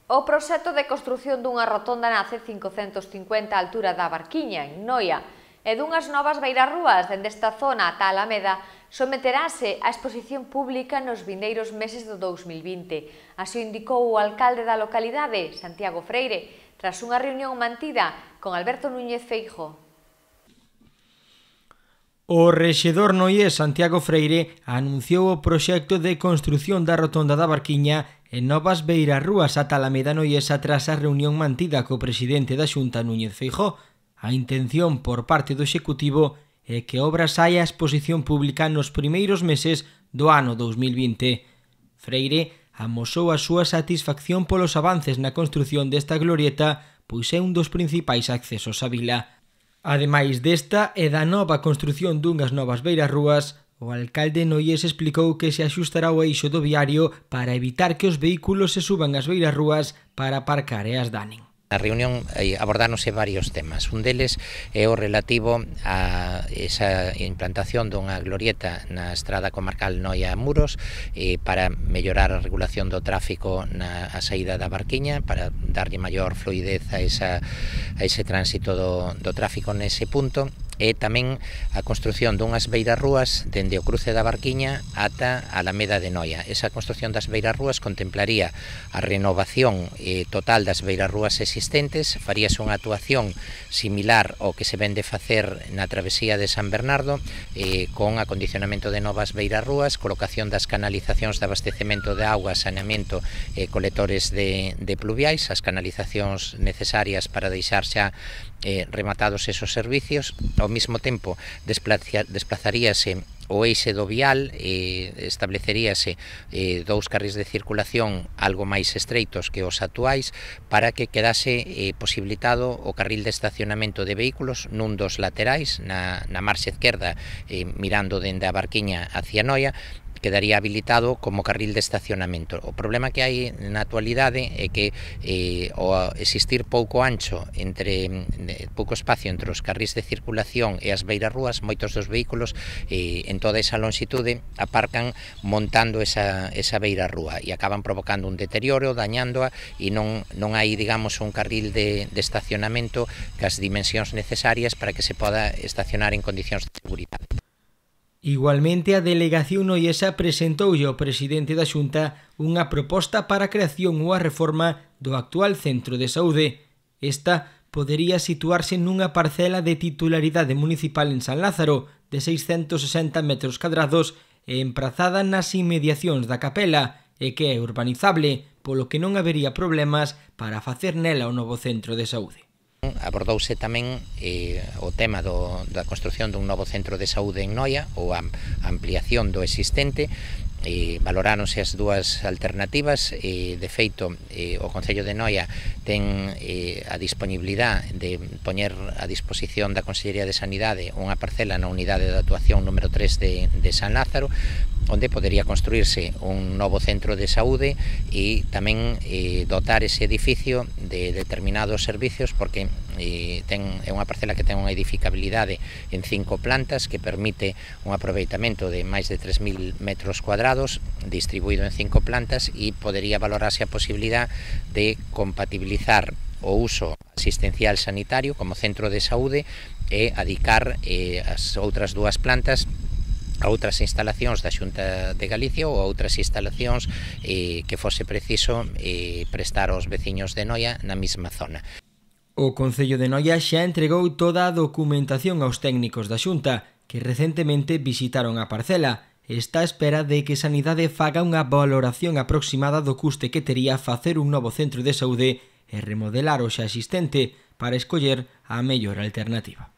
O proxecto de construción dunha rotonda na C550 á altura da Barquiña, en Noia, e dunhas novas beirarrúas dende esta zona ata Alameda someterase á exposición pública nos vindeiros meses do 2020. Así o indicou o alcalde da localidade, Santiago Freire, tras unha reunión mantida con Alberto Núñez Feijóo. O rexedor noiés Santiago Freire anunciou o proxecto de construción da rotonda da Barquiña e novas beirarrúas ata Alameda noiesa tras a reunión mantida co presidente da Xunta Núñez Feijóo. A intención por parte do Executivo é que a obra saia a exposición pública nos primeiros meses do ano 2020. Freire amosou a súa satisfacción polos avances na construción desta glorieta, pois é un dos principais accesos á vila. Ademais desta e da nova construción dunhas novas beirarrúas, o alcalde noiés explicou que se axustará o eixo do viario para evitar que os vehículos se suban ás beirarrúas para aparcar e as danen. Na reunión abordáronse varios temas. Un deles é o relativo a esa implantación dunha glorieta na estrada comarcal Noia-Muros para mellorar a regulación do tráfico na saída da Barquiña, para darlle maior fluidez a ese tránsito do tráfico nese punto, e tamén a construción dunhas beirarrúas dende o cruce da Barquiña ata a Alameda de Noia. Esa construción das beirarrúas contemplaría a renovación total das beirarrúas existentes, faríase unha actuación similar ao que se vende facer na travesía de San Bernardo, con acondicionamento de novas beirarrúas, colocación das canalizacións de abastecemento de auga, saneamento e colectores de pluviais, as canalizacións necesarias para deixar xa rematados esos servicios. Ao mesmo tempo desplazaríase o eixe do vial, estableceríase dous carrís de circulación algo máis estreitos que os actuais para que quedase posibilitado o carril de estacionamento de vehículos nun dos laterais, na marxa esquerda, mirando dende a Barquiña hacia Noia, quedaría habilitado como carril de estacionamento. O problema que hai na actualidade é que ao existir pouco espacio entre os carrís de circulación e as beirarrúas, moitos dos vehículos en toda esa longitude aparcan montando esa beirarrúa e acaban provocando un deterioro, dañándoa, e non hai, digamos, un carril de estacionamento cas dimensións necesarias para que se poda estacionar en condicións de seguridade. Igualmente, a delegación noiesa presentoulle ao presidente da Xunta unha proposta para a creación ou a reforma do actual centro de saúde. Esta podería situarse nunha parcela de titularidade municipal en San Lázaro, de 660 metros cadrados e emprazada nas inmediacións da capela, e que é urbanizable, polo que non habería problemas para facer nela o novo centro de saúde. Abordouse tamén o tema da construción dun novo centro de saúde en Noia, ou a ampliación do existente. Valoráronse as dúas alternativas. De feito, o Concello de Noia ten a disponibilidade de poñer a disposición da Consellería de Sanidade unha parcela na unidade de actuación número 3 de San Lázaro, onde podería construirse un novo centro de saúde e tamén dotar ese edificio de determinados servicios, porque é unha parcela que ten unha edificabilidade en 5 plantas que permite un aproveitamento de máis de 3.000 metros cuadrados distribuído en 5 plantas, e podería valorarse a posibilidade de compatibilizar o uso asistencial sanitario como centro de saúde e adicar as outras dúas plantas a outras instalacións da Xunta de Galicia ou a outras instalacións que fose preciso prestar aos veciños de Noia na mesma zona. O Concello de Noia xa entregou toda a documentación aos técnicos da Xunta, que recentemente visitaron a parcela. Está á espera de que Sanidade faga unha valoración aproximada do custe que tería facer un novo centro de saúde e remodelar o xa existente para escoller a mellor alternativa.